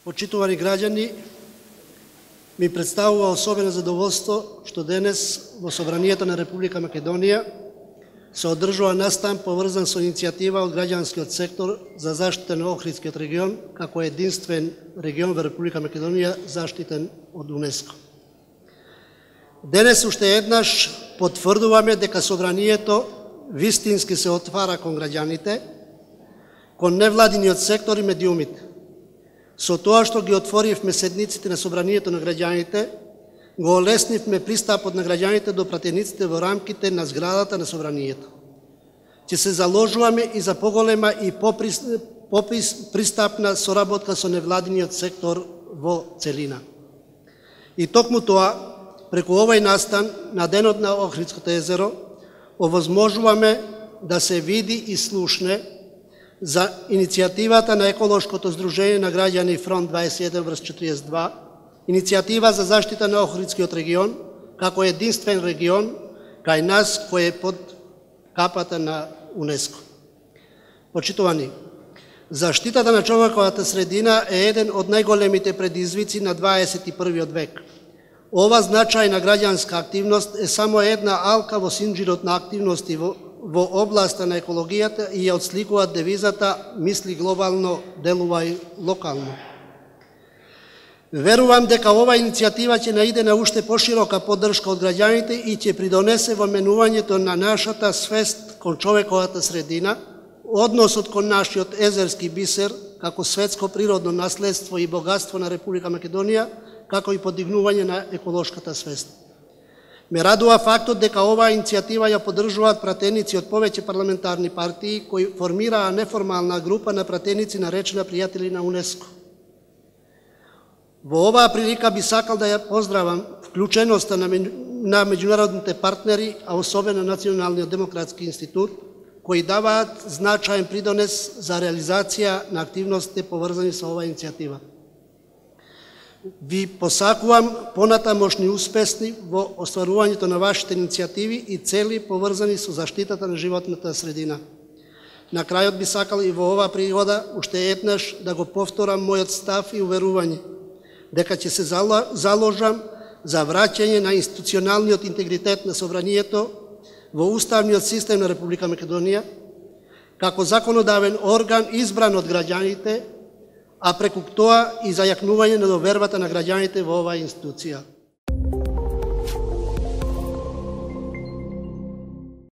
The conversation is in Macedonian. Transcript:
Почитувани граѓани, ми представува особено задоволство што денес во Собранието на Република Македонија се одржува настан поврзан со иницијатива од граѓанскиот сектор за заштита на Охридскиот регион како единствен регион во Република Македонија заштитен од УНЕСКО. Денес уште еднаш потврдуваме дека Собранието вистински се отвара кон граѓаните, кон невладиниот сектор и медиумите. Со тоа што ги отворивме седниците на Собранието на граѓаните, го олеснивме пристапот на граѓаните до пратениците во рамките на зградата на Собранието. Ќе се заложуваме и за поголема и пристапна соработка со невладиниот сектор во целина. И токму тоа, преку овој настан на Денот на Охридското езеро, овозможуваме да се види и слушне за иницијативата на Еколошкото здружение на граѓани Фронт 21/42, иницијатива за заштита на Охридскиот регион, како единствен регион кај нас кој е под капата на УНЕСКО. Почитувани, заштитата на човековата средина е еден од најголемите предизвици на 21. век. Ова значајна граѓанска активност е само една алка во синџирот на активности во областа на екологијата и ја отсликува девизата «Мисли глобално, делувај локално». Верувам дека оваа иницијатива ќе наиде на уште поширока поддршка од граѓаните и ќе придонесе во менувањето на нашата свест кон човековата средина, односот кон нашиот езерски бисер како светско природно наследство и богатство на Република Македонија, како и подигнување на еколошката свест. Ме радува фактот дека оваа иницијатива ја поддржуваат пратеници од повеќе парламентарни партии кои формираа неформална група на пратеници наречена пријатели на УНЕСКО. Во оваа прилика би сакал да ја поздравам вклученоста на меѓународните партнери, а особено Националниот демократски институт, кои даваат значаен придонес за реализација на активностите поврзани со оваа иницијатива. Ви посакувам понатамошни успесни во остварувањето на вашите иницијативи и цели поврзани со заштитата на животната средина. На крајот би сакал и во оваа пригода уште еднаш да го повторам мојот став и уверување дека ќе се заложам за враќање на институционалниот интегритет на Собранието во уставниот систем на Република Македонија, како законодавен орган избран од граѓаните, а преку тоа и зајакнување на довербата на граѓаните во оваа институција.